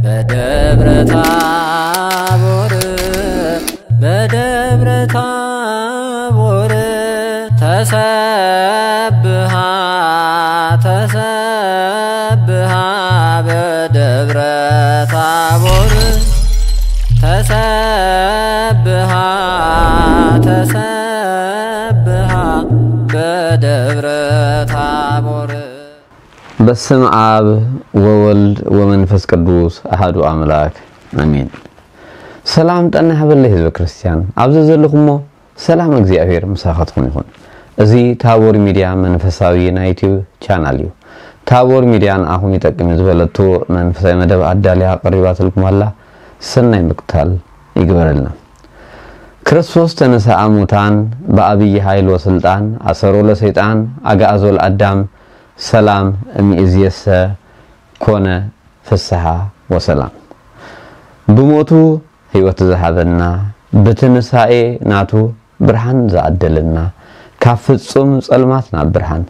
በደብረ ታቦር በደብረ ታቦር ተሰብሃ ተሰብሃ በደብረ ታቦር ተሰብሃ ተሰብሃ በደብረ ታቦር። በስም አብ ወወልድ ወመንፈስ ቅዱስ አሐዱ አምላክ አሜን። ሰላም ጠና ይበለይ ህዝበ ክርስቲያን፣ ኣብዚ ዘለኹሞ ሰላም እግዚኣብሔር ምሳኻትኩም ይኹን። እዚ ታቦር ሚድያ መንፈሳዊ ናይ ዩቲዩብ ቻናል እዩ። ታቦር ሚድያ ንኣኹም ይጠቅም እዩ ዝበለቶ መንፈሳዊ መደብ ኣዳልያ ቀሪባትልኩም ኣላ። ሰናይ ምክታል ይግበረልና። ክርስቶስ ተነሳ እሙታን፣ ብኣብይ ኃይል ወስልጣን፣ ኣሰሮ ለሰይጣን፣ ኣግዓዞ ለኣዳም፣ ሰላም እምይእዜሰ ኮነ ፍስሓ ወሰላም። ብሞቱ ሕይወት ዝሃበና፣ ብትንሳኤ ናቱ ብርሃን ዝኣደለና፣ ካብ ፍጹም ጸልማት ናብ ብርሃን፣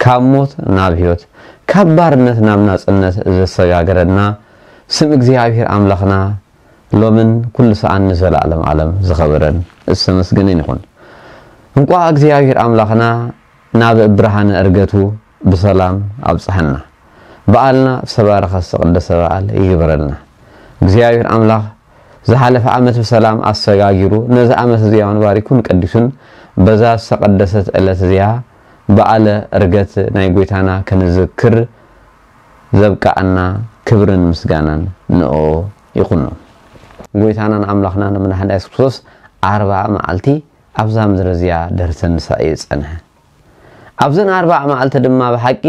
ካብ ሞት ናብ ሕይወት፣ ካብ ባርነት ናብ ናጽነት ዘሰጋገረና ስም እግዚኣብሔር ኣምላኽና ሎምን ኩሉ ሰኣን ንዘለዓለም ዓለም ዝኸበረን ዝተመስገነን ይኹን። እንቋዕ እግዚኣብሔር ኣምላኽና ናብ ብርሃነ ዕርገቱ ብሰላም ኣብጽሐና። በዓልና ዝተባረኸ ዝተቐደሰ በዓል ይግበረልና። እግዚኣብሔር ኣምላኽ ዝሓለፈ ዓመት ብሰላም ኣሰጋጊሩ ነዚ ዓመት እዚኣ እውን ባሪኩን ቀዲሱን በዛ ዝተቐደሰት ዕለት እዚኣ በዓለ ዕርገት ናይ ጐይታና ክንዝክር ዘብቅዓና ክብርን ምስጋናን ንኦ ይኹኖ። ጐይታናን ኣምላኽናን መድሓኒና የሱስ ክርስቶስ ኣርብዓ መዓልቲ ኣብዛ ምድሪ እዚኣ ድሕሪ ትንሳኤ ጸንሐ። ኣብዘን ኣርብዓ መዓልቲ ድማ ብሓቂ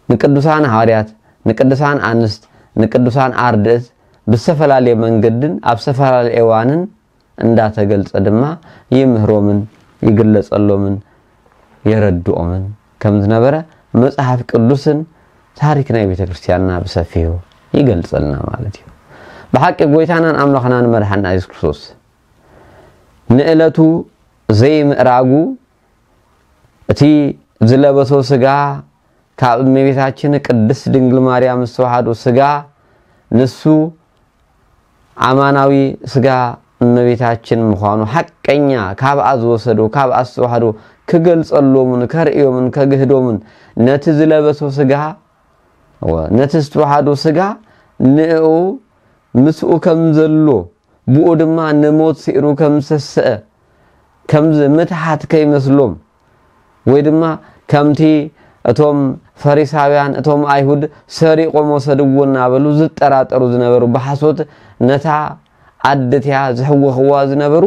ንቅዱሳን ሃዋርያት፣ ንቅዱሳን ኣንስት፣ ንቅዱሳን ኣርድእት ብዝተፈላለየ መንገድን ኣብ ዝተፈላለየ እዋንን እንዳተገልጸ ድማ ይምህሮምን ይግለጸሎምን የረድኦምን ከም ዝነበረ መጽሓፍ ቅዱስን ታሪክ ናይ ቤተ ክርስቲያንና ብሰፊሑ ይገልጸልና ማለት እዩ። ብሓቂ ጐይታናን ኣምላኽናን መድሓንና የሱስ ክርስቶስ ንዕለቱ ዘይምእራጉ እቲ ዝለበሶ ስጋ ካብ እመቤታችን ቅድስት ድንግል ማርያም ዝተዋሃዶ ስጋ ንሱ ኣማናዊ ስጋ እመቤታችን ምዃኑ ሓቀኛ ካብኣ ዝወሰዶ ካብኣ ዝተዋህዶ ክገልጸሎምን ከርእዮምን ከግህዶምን ነቲ ዝለበሶ ስጋ ወ- ነቲ ዝተዋህዶ ስጋ ንእኡ ምስኡ ከም ዘሎ ብኡ ድማ ንሞት ስዒሩ ከም ዝተስአ ከምዚ ምትሓት ከይመስሎም ወይ ድማ ከምቲ እቶም ፈሪሳውያን እቶም ኣይሁድ ሰሪቖም ወሰድዎ እናበሉ ዝጠራጠሩ ዝነበሩ ብሓሶት ነታ ዓዲ እቲኣ ዝሕወኽዋ ዝነበሩ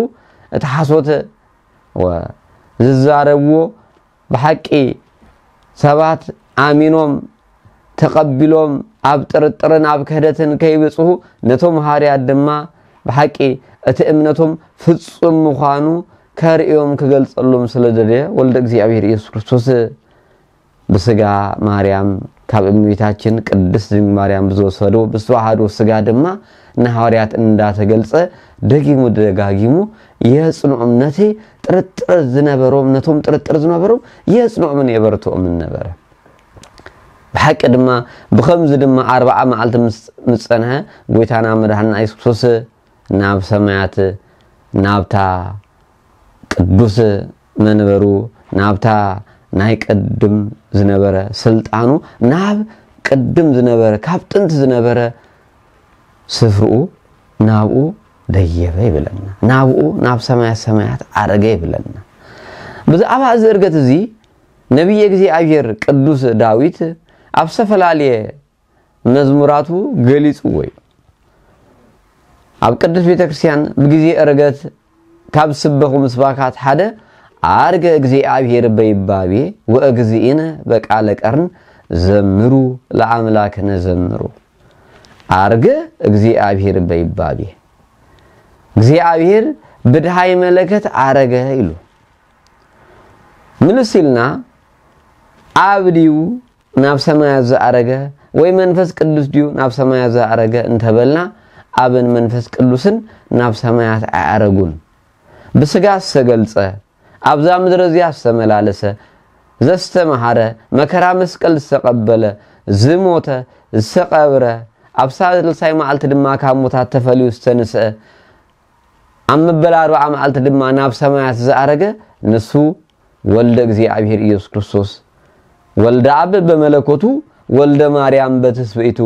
እቲ ሓሶት ወ- ዝዛረብዎ ብሓቂ ሰባት ኣሚኖም ተቐቢሎም ኣብ ጥርጥርን ኣብ ክህደትን ከይብጽሑ ነቶም ሃዋርያት ድማ ብሓቂ እቲ እምነቶም ፍጹም ምዃኑ ከርእዮም ክገልጸሎም ስለ ደለየ ወልደ እግዚኣብሔር ኢየሱስ ክርስቶስ ብስጋ ማርያም ካብ እመቤታችን ቅድስት ድንግል ማርያም ብዝወሰዶ ብዝተዋሃዶ ስጋ ድማ ንሃዋርያት እንዳተገልጸ ደጊሙ ደጋጊሙ የጽንዖም ነቲ ጥርጥር ዝነበሮም ነቶም ጥርጥር ዝነበሮም የጽንዖምን የበርትኦምን ነበረ። ብሓቂ ድማ ብኸምዚ ድማ ኣርብዓ መዓልቲ ምስ ምስ ጸንሐ ጐይታና መድሓንና የሱስ ክርስቶስ ናብ ሰማያት ናብታ ቅዱስ መንበሩ ናብታ ናይ ቅድም ዝነበረ ስልጣኑ ናብ ቅድም ዝነበረ ካብ ጥንቲ ዝነበረ ስፍርኡ ናብኡ ደየበ ይብለና። ናብኡ ናብ ሰማያት ሰማያት ዓረገ ይብለና። ብዛዕባ እዚ እርገት እዚ ነቢየ እግዚኣብሔር ቅዱስ ዳዊት ኣብ ዝተፈላለየ መዝሙራቱ ገሊጽዎ እዩ። ኣብ ቅድስት ቤተ ክርስቲያን ብግዜ እርገት ካብ ዝስበኹ ምስባካት ሓደ ኣርገ እግዚኣብሔር በይባቤ ወእግዚእነ በቃለ ቀርን ዘምሩ ለኣምላክነ ዘምሩ። ኣርገ እግዚኣብሔር በይባቤ እግዚኣብሔር ብድሃይ መለከት ኣረገ ኢሉ ምልስ ኢልና ኣብ ድዩ ናብ ሰማያት ዝኣረገ ወይ መንፈስ ቅዱስ ድዩ ናብ ሰማያት ዝኣረገ እንተበልና ኣብን መንፈስ ቅዱስን ናብ ሰማያት ኣይኣረጉን። ብስጋ ዝተገልጸ ኣብዛ ምድሪ እዚኣ ዝተመላለሰ ዘስተምሃረ መከራ መስቀል ዝተቐበለ ዝሞተ ዝተቐብረ ኣብ ሳልሳይ መዓልቲ ድማ ካብ ሙታት ተፈልዩ ዝተንስአ፣ ኣብ መበል ኣርብዓ መዓልቲ ድማ ናብ ሰማያት ዝኣረገ ንሱ ወልደ እግዚኣብሔር ኢየሱስ ክርስቶስ፣ ወልደ ኣብ በመለኮቱ፣ ወልደ ማርያም በትስብእቱ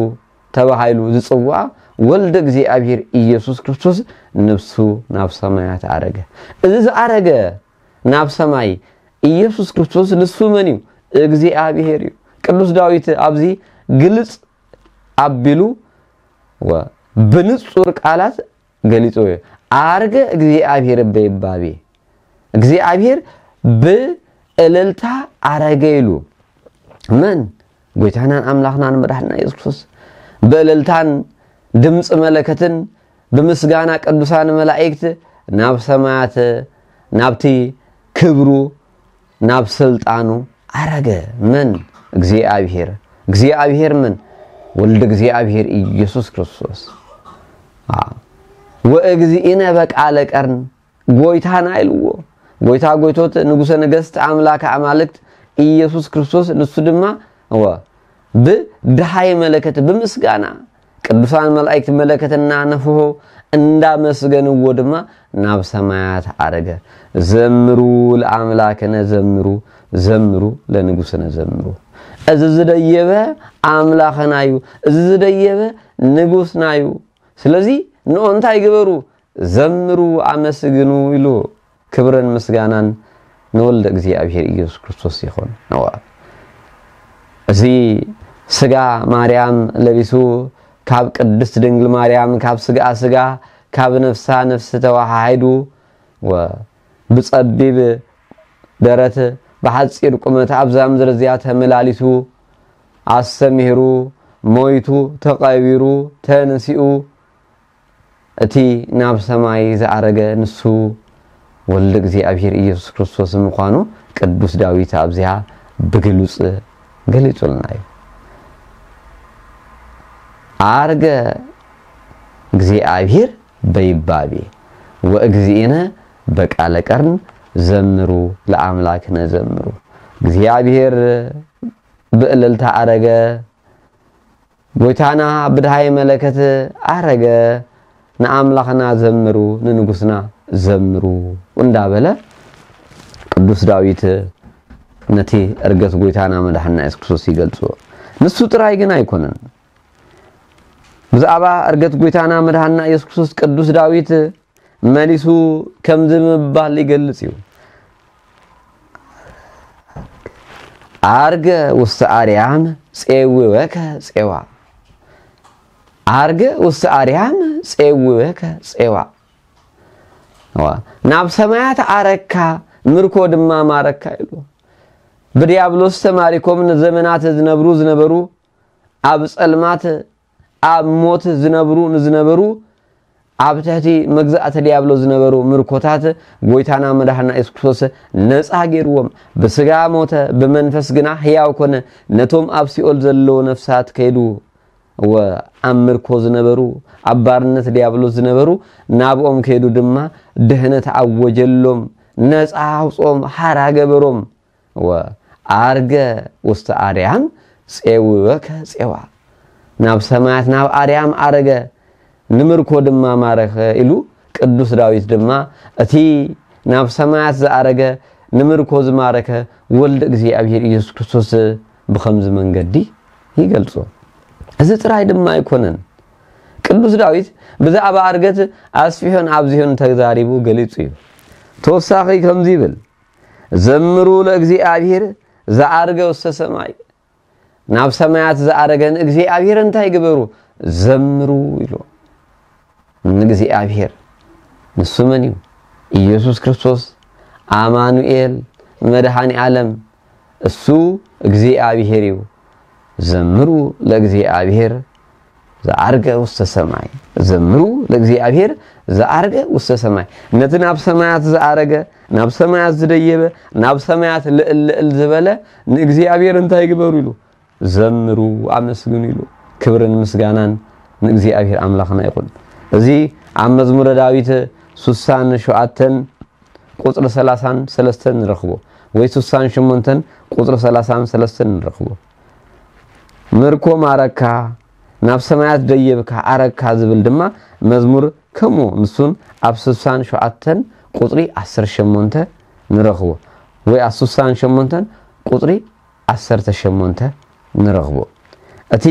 ተባሂሉ ዝጽዋዕ ወልደ እግዚኣብሔር ኢየሱስ ክርስቶስ ንሱ ናብ ሰማያት ኣረገ። እዚ ዝኣረገ ናብ ሰማይ ኢየሱስ ክርስቶስ ንሱ መን እዩ? እግዚኣብሔር እዩ። ቅዱስ ዳዊት ኣብዚ ግልጽ ኣቢሉ ወ-፣ ብንጹር ቃላት ገሊጹ እዩ። "ኣርገ እግዚኣብሔር በይባቤ"፣ እግዚኣብሔር ብእልልታ ኣረገ ኢሉ። መን? ጎይታናን ኣምላኽናን መድሓንና ኢየሱስ ክርስቶስ። ብእልልታን ድምፂ መለከትን ብምስጋና ቅዱሳን መላእክት ናብ ሰማያት፣ ናብቲ ክብሩ፣ ናብ ስልጣኑ ኣረገ። መን? እግዚኣብሔር። እግዚኣብሔር መን? ወልደ እግዚኣብሔር ኢየሱስ ክርስቶስ። አ፣ "ወእግዚእነ በቃለ ቀርን"፣ ጎይታና ኢልዎ። ጎይታ ጎይቶት፣ ንጉሰ ነገስት፣ ኣምላከ ኣማልክት ኢየሱስ ክርስቶስ ንሱ ድማ፣ እወ፣ ብድሃይ መለከት፣ ብምስጋና፣ ቅዱሳን መላእክት መለከት እናነፍሑ እንዳመስገንዎ ድማ ናብ ሰማያት ኣረገ። "ዘምሩ ለኣምላክነ ዘምሩ፣ ዘምሩ ለንጉስነ ዘምሩ።" እዚ ዝደየበ ኣምላኽና እዩ። እዚ ዝደየበ ንጉስና እዩ። ስለዚ ንኦ እንታይ ግበሩ? "ዘምሩ፣ ኣመስግኑ" ኢሉ። ክብርን ምስጋናን ንወልደ እግዚኣብሔር ኢየሱስ ክርስቶስ ይኹን። እዋ፣ እዚ ስጋ ማርያም ለቢሱ፣ ካብ ቅድስት ድንግል ማርያም፣ ካብ ስጋኣ ስጋ፣ ካብ ነፍሳ ነፍሲ ተዋሃሂዱ፣ ወ-፣ ብጸቢብ ደረት፣ ብሓጺር ቁመት ኣብዛ ምድሪ እዚኣ ተመላሊሱ፣ ኣስተምሂሩ፣ ሞይቱ፣ ተቐቢሩ፣ ተንሲኡ፣ እቲ ናብ ሰማይ ዝኣረገ ንሱ ወልደ እግዚኣብሔር ኢየሱስ ክርስቶስ ምዃኑ ቅዱስ ዳዊት ኣብዚኣ ብግሉጽ ገሊጹልና እዩ። "ኣርገ እግዚኣብሔር በይባቤ ወእግዚእነ በቃለ ቀርን ዘምሩ ለኣምላክነ ዘምሩ።" እግዚኣብሔር ብእልልታ ኣረገ፣ ጎይታና ብድሃይ መለከት ኣረገ፣ "ንኣምላኽና ዘምሩ፣ ንንጉስና ዘምሩ" እንዳበለ ቅዱስ ዳዊት ነቲ ዕርገት ጎይታና መድሓንና የሱስ ክርስቶስ ይገልጾ። ንሱ ጥራይ ግን ኣይኮነን። ብዛዕባ ዕርገት ጎይታና መድሓንና የሱስ ክርስቶስ ቅዱስ ዳዊት መሊሱ ከምዚ ምባል ይገልጽ እዩ። "ኣርገ ውስተ ኣርያም ጼውወከ ጼዋ፣ ኣርገ ውስተ ኣርያም ጼውወከ ጼዋ፣ ዋ፣ ናብ ሰማያት ኣረካ፣ ምርኮ ድማ ማረካ" ኢሉ። ብዲያብሎስ ተማሪኮም ንዘመናት ዝነብሩ ዝነበሩ፣ ኣብ ጸልማት ኣብ ሞት ዝነብሩ ንዝነበሩ፣ ኣብ ትሕቲ መግዛእቲ ዲያብሎስ ዝነበሩ ምርኮታት ጎይታና መድሓና የሱስ ክርስቶስ ነጻ ገይርዎም። ብስጋ ሞተ፣ ብመንፈስ ግና ህያው ኮነ። ነቶም ኣብ ሲኦል ዘለዉ ነፍሳት ከይዱ፣ ወ-፣ ኣብ ምርኮ ዝነበሩ፣ ኣብ ባርነት ዲያብሎስ ዝነበሩ፣ ናብኦም ከይዱ ድማ ድህነት ኣወጀሎም፣ ነጻ ኣውጽኦም፣ ሓራ ገበሮም። ወኣርገ ውስተ ኣርያም ጼውወከ ጼዋ፣ ናብ ሰማያት ናብ ኣርያም ኣረገ፣ ንምርኮ ድማ ማረኸ ኢሉ። ቅዱስ ዳዊት ድማ እቲ ናብ ሰማያት ዝኣረገ፣ ንምርኮ ዝማረከ ወልደ እግዚኣብሔር ኢየሱስ ክርስቶስ ብኸምዚ መንገዲ ይገልጾ። እዚ ጥራይ ድማ ኣይኮነን። ቅዱስ ዳዊት ብዛዕባ ኣርገት ኣስፊሑን ኣብዚሑን ተዛሪቡ ገሊጹ እዩ። ተወሳኺ ከምዚ ይብል፣ ዘምሩ ለእግዚኣብሔር ዘዓርገ ውስተ ሰማይ። ናብ ሰማያት ዝኣረገ ንእግዚኣብሔር እንታይ ግበሩ? ዘምሩ ኢሉ። ንእግዚኣብሔር ንሱ መን እዩ? ኢየሱስ ክርስቶስ፣ ኣማኑኤል፣ መድኃኔ ዓለም፣ እሱ እግዚኣብሔር እዩ። ዘምሩ ለእግዚኣብሔር ዘዓርገ ውስተ ሰማይ። ዘምሩ ለእግዚኣብሔር ዘዓርገ ውስተ ሰማይ። ነቲ ናብ ሰማያት ዝኣረገ፣ ናብ ሰማያት ዝደየበ፣ ናብ ሰማያት ልዕል ልዕል ዝበለ ንእግዚኣብሔር እንታይ ግበሩ ኢሉ? ዘምሩ፣ ኣመስግኑ ኢሉ። ክብርን ምስጋናን ንእግዚኣብሔር ኣምላኽና ይኹን። እዚ ኣብ መዝሙረ ዳዊት ሱሳን ሸውዓተን ቁጽሪ ሰላሳን ሰለስተን ንረኽቦ፣ ወይ ሱሳን ሸሞንተን ቁጽሪ ሰላሳን ሰለስተን ንረኽቦ። ምርኮ ማረካ፣ ናብ ሰማያት ደየብካ ኣረግካ ዝብል ድማ መዝሙር ከምኡ ንሱን ኣብ ስሳን ሸውዓተን ቁጽሪ ዓሰርተ ሸሞንተ ንረኽቦ፣ ወይ ኣብ ስሳን ሸሞንተን ቁጽሪ ዓሰርተ ሸሞንተ ንረኽቦ። እቲ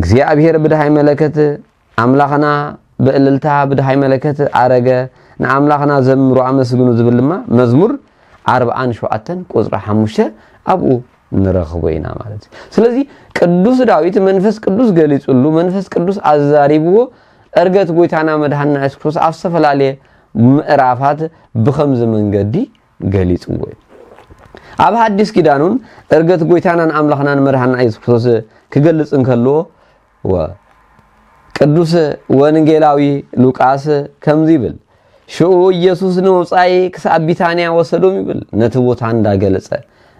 እግዚኣብሔር ብድሃይ መለከት ኣምላኽና ብእልልታ ብድሃይ መለከት ኣረገ፣ ንኣምላኽና ዘምሩ ኣመስግኑ ዝብል ድማ መዝሙር ኣርብዓን ሸውዓተን ቁጽሪ ሓሙሽተ ኣብኡ ንረኽቦ ኢና ማለት እዩ። ስለዚ ቅዱስ ዳዊት መንፈስ ቅዱስ ገሊጹሉ፣ መንፈስ ቅዱስ ኣዛሪብዎ፣ ዕርገት ጎይታና መድሃንና የሱስ ክርስቶስ ኣብ ዝተፈላለየ ምዕራፋት ብኸምዚ መንገዲ ገሊጽዎ እዩ። ኣብ ሓዲስ ኪዳን እውን ዕርገት ጎይታናን ኣምላኽናን መድሃንና የሱስ ክርስቶስ ክገልጽ እንከልዎ፣ ወ ቅዱስ ወንጌላዊ ሉቃስ ከምዚ ይብል፣ ሽኡ ኢየሱስ ንወጻኢ ክሳብ ቢታንያ ወሰዶም ይብል። ነቲ ቦታ እንዳገለጸ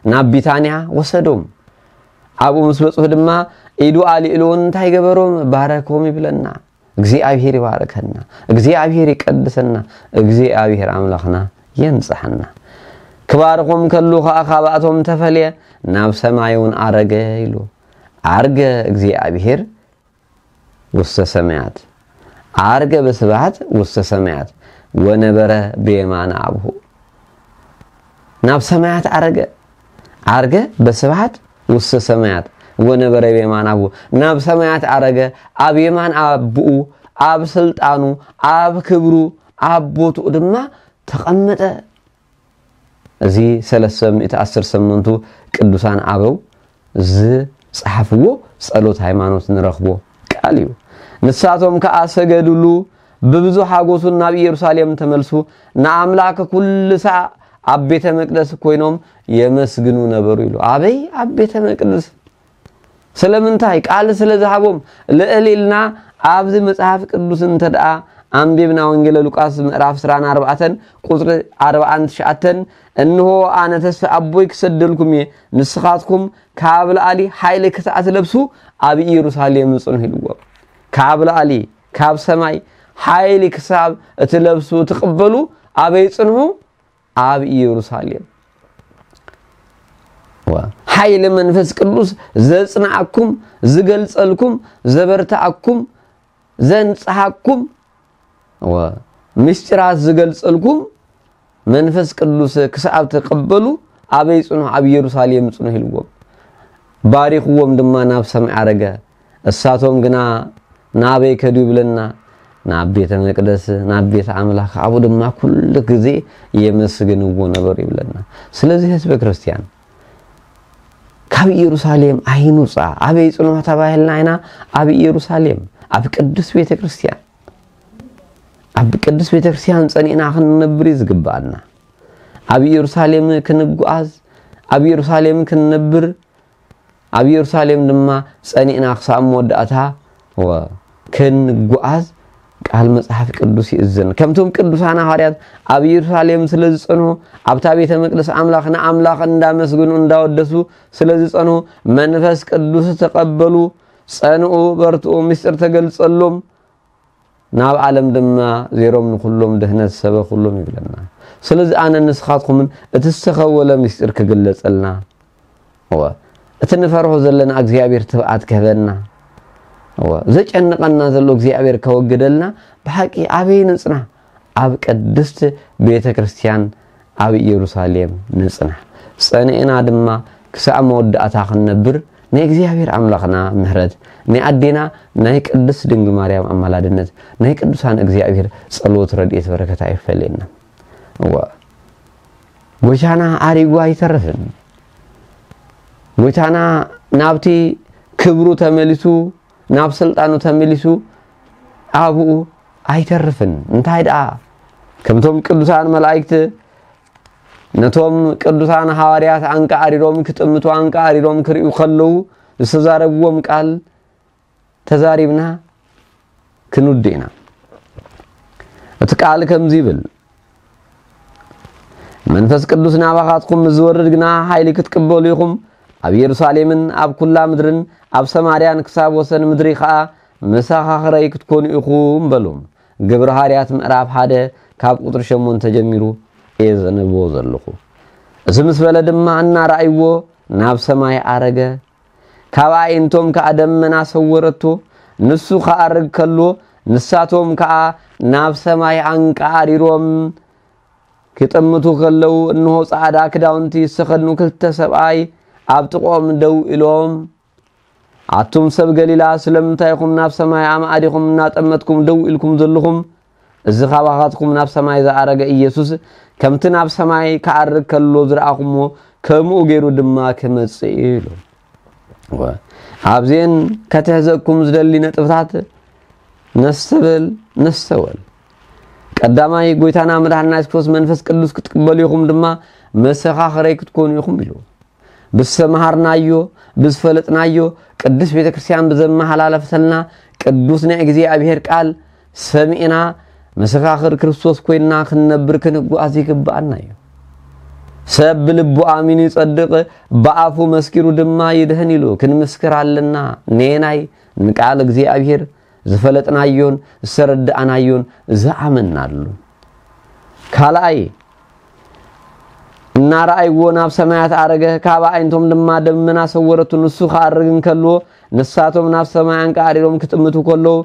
ናብ ቢታንያ ወሰዶም። ኣብኡ ምስ በጽሑ ድማ ኢዱ ኣልኢሉውን እንታይ ገበሮም? ባረኮም ይብለና። እግዚኣብሔር ይባርከና፣ እግዚኣብሔር ይቀድሰና፣ እግዚኣብሔር ኣምላኽና የንጽሐና። ክባርኾም ከሉ ኸኣ ካብኣቶም ተፈልየ፣ ናብ ሰማይ እውን ኣረገ ኢሉ። ኣርገ እግዚኣብሔር ውስተ ሰማያት፣ ኣርገ በስብሐት ውስተ ሰማያት ወነበረ ብየማነ ኣብሁ። ናብ ሰማያት ኣረገ። ኣርገ በስብሐት ውስተ ሰማያት ወነበረ ብየማነ ኣብሁ። ናብ ሰማያት ኣረገ፣ ኣብ የማን ኣቦኡ፣ ኣብ ስልጣኑ፣ ኣብ ክብሩ፣ ኣብ ቦትኡ ድማ ተቐመጠ። እዚ ሰለስተ ሚእቲ ዓሰርተ ሸሞንተ ቅዱሳን ኣበው ዝጸሓፍዎ ጸሎት ሃይማኖት ንረኽቦ ቃል እዩ። ንሳቶም ከኣ ሰገዱሉ፣ ብብዙሕ ሓጎሱን ናብ ኢየሩሳሌም ተመልሱ፣ ንኣምላኽ ኩሉ ሳዕ ኣብ ቤተ መቅደስ ኮይኖም የመስግኑ ነበሩ ኢሉ። ኣበይ? ኣብ ቤተ መቅደስ። ስለምንታይ? ቃል ስለ ዝሃቦም። ልዕል ኢልና ኣብዚ መጽሓፍ ቅዱስ እንተ ደኣ ኣንቢብና፣ ወንጌለ ሉቃስ ምዕራፍ ዕስራን ኣርባዕተን ቁጽሪ ኣርባዓን ትሽዓተን፣ "እንሆ ኣነ ተስፋ ኣቦይ ክሰደልኩም እየ፣ ንስኻትኩም ካብ ላዕሊ ሓይሊ ክሳዕ ትለብሱ ኣብ ኢየሩሳሌም ጽንሑ" ኢልዎም። ካብ ላዕሊ፣ ካብ ሰማይ ሓይሊ ክሳብ እትለብሱ፣ ትቕበሉ፣ ኣበይ ጽንሑ? ኣብ ኢየሩሳሌም። ዋ፣ ሓይሊ መንፈስ ቅዱስ ዘጽንዓኩም፣ ዝገልጸልኩም፣ ዘበርትዓኩም፣ ዘንጽሃኩም፣ ዋ፣ ምስጢራት ዝገልጸልኩም መንፈስ ቅዱስ ክሳብ ትቕበሉ ኣበይ ጽንሑ? ኣብ ኢየሩሳሌም ጽንሑ ኢልዎም። ባሪኽዎም ድማ ናብ ሰማይ ዓረገ። እሳቶም ግና ናበይ ከዱ ይብለና? ናብ ቤተ መቅደስ፣ ናብ ቤት ኣምላኽ። ኣብኡ ድማ ኩሉ ግዜ የመስግንዎ ነበሩ ይብለና። ስለዚ ህዝበ ክርስቲያን ካብ ኢየሩሳሌም ኣይንውጻ። ኣበይ ጽንሑ ተባሂልና ኢና? ኣብ ኢየሩሳሌም፣ ኣብ ቅድስት ቤተ ክርስቲያን። ኣብ ቅድስት ቤተ ክርስቲያን ጸኒዕና ክንነብር እዩ ዝግብኣና። ኣብ ኢየሩሳሌም ክንጓዓዝ፣ ኣብ ኢየሩሳሌም ክንነብር፣ ኣብ ኢየሩሳሌም ድማ ጸኒዕና ክሳብ መወዳእታ ወ-፣ ክንጓዓዝ ቃል መጽሓፍ ቅዱስ ይእዝን። ከምቶም ቅዱሳን ሃዋርያት ኣብ ኢየሩሳሌም ስለ ዝጸንሑ፣ ኣብታ ቤተ መቅደስ ኣምላኽ ንኣምላኽ እንዳመስግኑ እንዳወደሱ ስለ ዝጸንሑ፣ መንፈስ ቅዱስ ተቐበሉ፣ ጸንኡ፣ በርትኡ፣ ምስጢር ተገልጸሎም፣ ናብ ዓለም ድማ ዜሮም ንኹሎም ድህነት ሰበኹሎም ይብለና። ስለዚ ኣነ ንስኻትኩምን እቲ ዝተኸወለ ምስጢር ክግለጸልና፣ እወ፣ እቲ ንፈርሆ ዘለና እግዚኣብሔር ትብዓት ክህበና፣ እወ፣ ዘጨንቐና ዘሎ እግዚኣብሔር ከወግደልና፣ ብሓቂ ኣበይ ንጽና? ኣብ ቅድስት ቤተ ክርስቲያን ኣብ ኢየሩሳሌም ንጽናሕ። ጸኒዕና ድማ ክሳዕ መወዳእታ ክንነብር ናይ እግዚኣብሔር ኣምላኽና ምሕረት፣ ናይ ኣዴና ናይ ቅድስት ድንግል ማርያም ኣማላድነት፣ ናይ ቅዱሳን እግዚኣብሔር ጸሎት ረድኤት በረከት ኣይፈለየና። እወ፣ ጎይታና ኣሪጉ ኣይተርፍን። ጎይታና ናብቲ ክብሩ ተመሊሱ፣ ናብ ስልጣኑ ተመሊሱ ኣብኡ ኣይተርፍን። እንታይ ደኣ? ከምቶም ቅዱሳን መላእክት ነቶም ቅዱሳን ሃዋርያት ኣንቃዕሪሮም ክጥምቱ፣ ኣንቃዕሪሮም ክርእዩ ከለዉ ዝተዛረብዎም ቃል ተዛሪብና ክንውድእ ኢና። እቲ ቃል ከምዚ ይብል፣ መንፈስ ቅዱስ ናባኻትኩም ምስ ዝወርድ ግና ሓይሊ ክትቅበሉ ኢኹም። ኣብ ኢየሩሳሌምን ኣብ ኩላ ምድርን ኣብ ሰማርያን ክሳብ ወሰን ምድሪ ኸኣ መሰኻኽረይ ክትኮኑ ኢኹም በሎም። ግብረ ሃዋርያት ምዕራፍ ሓደ ካብ ቁጽሪ ሸሞንተ ጀሚሩ እየ ዘንብቦ ዘለኹ። እዚ ምስ በለ ድማ እናረኣይዎ ናብ ሰማይ ኣረገ። ካብ ኣዒንቶም ከኣ ደመና ሰወረቶ። ንሱ ክኣርግ ከሎ፣ ንሳቶም ከኣ ናብ ሰማይ ኣንቃዕሪሮም ክጥምቱ ከለዉ፣ እንሆ፣ ጻዕዳ ክዳውንቲ ዝተኸድኑ ክልተ ሰብኣይ ኣብ ጥቕኦም ደው ኢሎም፣ "ኣቱም ሰብ ገሊላ፣ ስለምንታይ ኢኹም ናብ ሰማይ ኣማዕዲኹም እናጠመትኩም ደው ኢልኩም ዘለኹም? እዚ ካባኻትኩም ናብ ሰማይ ዝኣረገ ኢየሱስ፣ ከምቲ ናብ ሰማይ ክኣርግ ከሎ ዝረኣኹሞ፣ ከምኡ ገይሩ ድማ ክመጽእ እዩ" ኢሉ። ወ-፣ ኣብዚኤን ከተሕዘኩም ዝደሊ ነጥብታት ነስተበል፣ ነስተወል። ቀዳማይ፣ ጎይታና መድሓንና የሱስ ክርስቶስ መንፈስ ቅዱስ ክትቅበሉ ኢኹም ድማ መሰኻኽረይ ክትኮኑ ኢኹም ኢሉ። ብዝሰምሃርናዮ፣ ብዝፈለጥናዮ፣ ቅድስት ቤተ ክርስቲያን ብዘመሓላለፈተልና ቅዱስ ናይ እግዚኣብሔር ቃል ሰሚዕና መሰኻኽር ክርስቶስ ኮይንና ክንነብር ክንጓዝ ይግብኣና እዩ። "ሰብ ብልቡ ኣሚኑ ይጸድቕ፣ ብኣፉ መስኪሩ ድማ ይድህን" ኢሉ ክንምስክር ኣለና። ነየናይ? ንቃል እግዚኣብሔር ዝፈለጥናዮን ዝተረዳእናዮን ዝኣመንናሉ። ካልኣይ፣ እናረኣይዎ ናብ ሰማያት ኣረገ፣ ካብ ኣዒንቶም ድማ ደመና ሰወረቱ። ንሱ ክኣርግ እንከልዎ፣ ንሳቶም ናብ ሰማይ ኣንቃዕሪሮም ክጥምቱ ከለዉ፣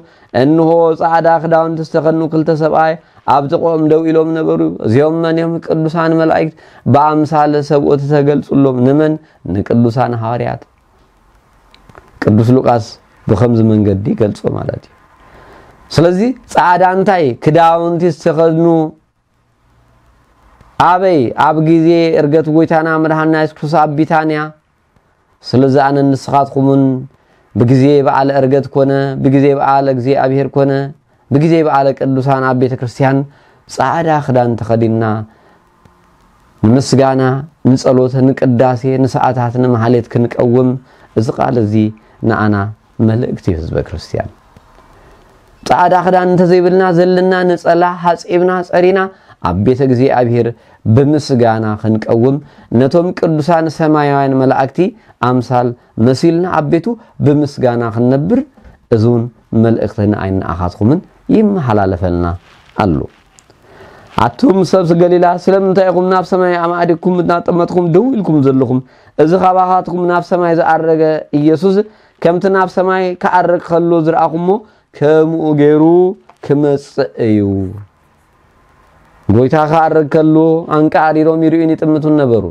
እንሆ፣ ጻዕዳ ክዳውንቲ ዝተኸድኑ ክልተ ሰብኣይ ኣብ ጥቕኦም ደው ኢሎም ነበሩ። እዚኦም መን እዮም? ቅዱሳን መላእክት ብኣምሳለ ሰብኡት ተገልጹሎም። ንመን? ንቅዱሳን ሃዋርያት። ቅዱስ ሉቃስ ብኸምዚ መንገዲ ይገልጾ ማለት እዩ። ስለዚ ጻዕዳ እንታይ? ክዳውንቲ ዝተኸድኑ ኣበይ? ኣብ ግዜ ዕርገት ጎይታና መድሓንና የሱስ ክርስቶስ ኣብ ቢታንያ። ስለዚ ኣነን ንስኻትኩምን ብግዜ በዓለ ዕርገት ኮነ፣ ብግዜ በዓለ እግዚኣብሔር ኮነ፣ ብግዜ በዓለ ቅዱሳን ኣብ ቤተ ክርስቲያን ጻዕዳ ክዳን ተኸዲንና ንምስጋና፣ ንጸሎት፣ ንቅዳሴ፣ ንሰዓታት፣ ንማሕሌት ክንቀውም እዚ ቃል እዚ ንኣና መልእክቲ እዩ። ህዝበ ክርስቲያን፣ ጻዕዳ ክዳን እንተዘይብልና፣ ዘለና ነጸላ ሓጺብና ጸሪና ኣብ ቤተ እግዚኣብሔር ብምስጋና ክንቀውም፣ ነቶም ቅዱሳን ሰማያውያን መላእክቲ ኣምሳል መሲልና ኣብ ቤቱ ብምስጋና ክንነብር፣ እዚ እውን መልእኽቲ ንኣይን ንኣኻትኩምን ይመሓላለፈልና ኣሎ። ኣቱም ሰብ ገሊላ፣ ስለምንታይ ኢኹም ናብ ሰማይ ኣማዕዲግኩም እናጠመትኩም ደው ኢልኩም ዘለኹም? እዚ ካባኻትኩም ናብ ሰማይ ዝኣረገ ኢየሱስ፣ ከምቲ ናብ ሰማይ ክኣርግ ከሎ ዝረኣኹሞ፣ ከምኡ ገይሩ ክመጽእ እዩ። ጎይታ ክኣርግ ከሎ፣ ኣንቃዕሪሮም ይርእዩን ይጥምቱን ነበሩ።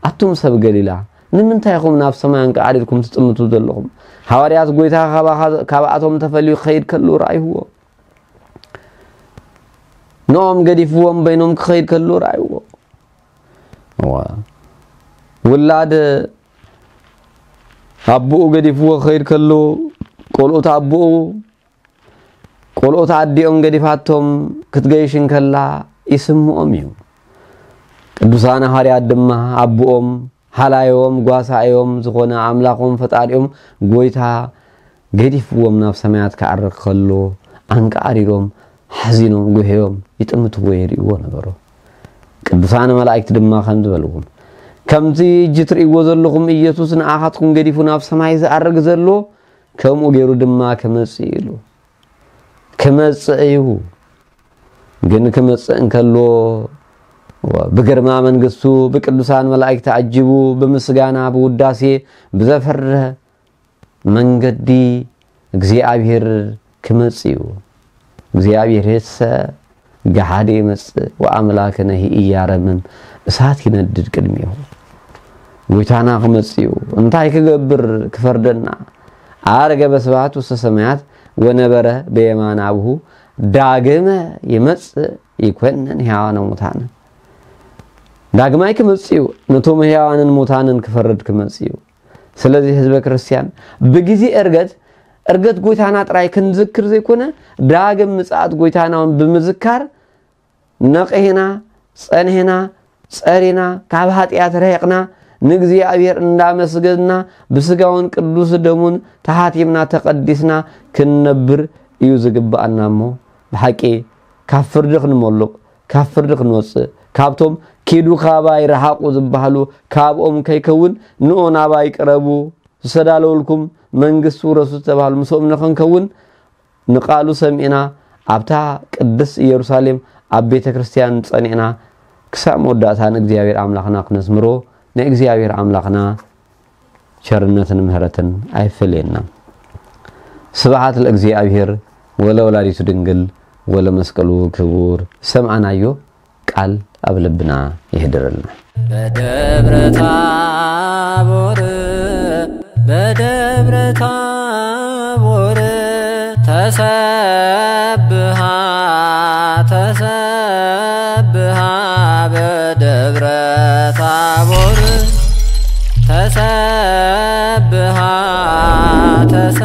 ኣቱም ሰብ ገሊላ፣ ንምንታይ ኢኹም ናብ ሰማይ ኣንቃዕሪርኩም ትጥምቱ ዘለኹም? ሃዋርያት፣ ጎይታ ካባኻ-፣ ካብኣቶም ተፈልዩ ክኸይድ ከሎ ረኣይዎ። ንኦም ገዲፍዎም በይኖም ክኸይድ ከሎ ረኣይዎ። እዋ። ውላድ ኣቦኡ ገዲፍዎ ክኸይድ ከሎ፣ ቆልኡት ኣቦኡ፣ ቆልኡት ኣዲኦም ገዲፋቶም ክትገይሽ እንከላ ይስምኦም እዩ። ቅዱሳን ሃዋርያት ድማ ኣቦኦም፣ ሃላዮም፣ ጓሳዮም ዝኾነ ኣምላኾም ፈጣሪኦም ጎይታ ገዲፍዎም ናብ ሰማያት ክዓርግ ከሎ ኣንቃዕሪሮም፣ ሓዚኖም፣ ጉህዮም ይጥምትዎ የርእይዎ ነበሩ። ቅዱሳን መላእክት ድማ ከምዚ በልዎም፣ "ከምዚ እጂ ትርእይዎ ዘለኹም ኢየሱስ ንኣኻትኩም ገዲፉ ናብ ሰማይ ዝኣርግ ዘሎ፣ ከምኡ ገይሩ ድማ ክመጽእ እዩ" ኢሉ። ክመጽእ እዩ። ግን ክመጽእ እንከሎ ብግርማ መንግስቱ ብቅዱሳን መላእክት ተዓጂቡ ብምስጋና ብውዳሴ ብዘፍርህ መንገዲ እግዚኣብሔር ክመጽእ እዩ። እግዚኣብሔር የሰ ገሃደ ይመጽእ ወኣምላክነሂ ኢያረምም፣ እሳት ይነድድ ቅድሚሁ። ጎይታና ክመጽእ እዩ። እንታይ ክገብር? ክፈርደና። "ዓረገ በስብሐት ውስተ ሰማያት ወነበረ በየማነ አቡሁ፣ ዳግመ ይመጽእ ይኮንን ሕያዋነ ሙታነ።" ዳግማይ ክመጽእ እዩ። ነቶም ሕያዋንን ሙታንን ክፈርድ ክመጽእ እዩ። ስለዚ ህዝበ ክርስቲያን ብግዜ ዕርገት፣ ዕርገት ጎይታና ጥራይ ክንዝክር ዘይኮነ፣ ዳግም ምጽኣት ጎይታና እውን ብምዝካር፣ ነቒሕና፣ ጸኒሕና፣ ጸሪና፣ ካብ ኃጢኣት ርሒቕና፣ ንእግዚኣብሔር እንዳመስገንና፣ ብስጋውን ቅዱስ ደሙን ተሓቲምና፣ ተቐዲስና ክንነብር እዩ ዝግብኣና እሞ፣ ብሓቂ ካብ ፍርዲ ክንመሉቕ፣ ካብ ፍርዲ ክንወጽእ፣ ካብቶም "ኪዱ ካባይ ረሓቑ" ዝበሃሉ ካብኦም ከይከውን፣ "ንዑ ናባይ ቅረቡ፣ ዝተዳለወልኩም መንግስቲ ውረሱ" ዝተባህሉ ምስኦም ንኽንከውን፣ ንቃሉ ሰሚዕና፣ ኣብታ ቅድስት ኢየሩሳሌም ኣብ ቤተ ክርስቲያን ጸኒዕና፣ ክሳብ መወዳእታ ንእግዚኣብሔር ኣምላኽና ክነስምሮ፣ ንእግዚኣብሔር ኣምላኽና ቸርነትን ምህረትን ኣይፈለየና። ስብሓት ለእግዚኣብሔር ወለ ወላዲቱ ድንግል ወለ መስቀሉ ክቡር። ሰምዓናዮ ቃል ኣብ ልብና ይህድረልና። በደብረ ታቦር በደብረ ታቦር ተሰብሃ ተሰብሃ በደብረ ታቦር ተሰብሃ ተሰ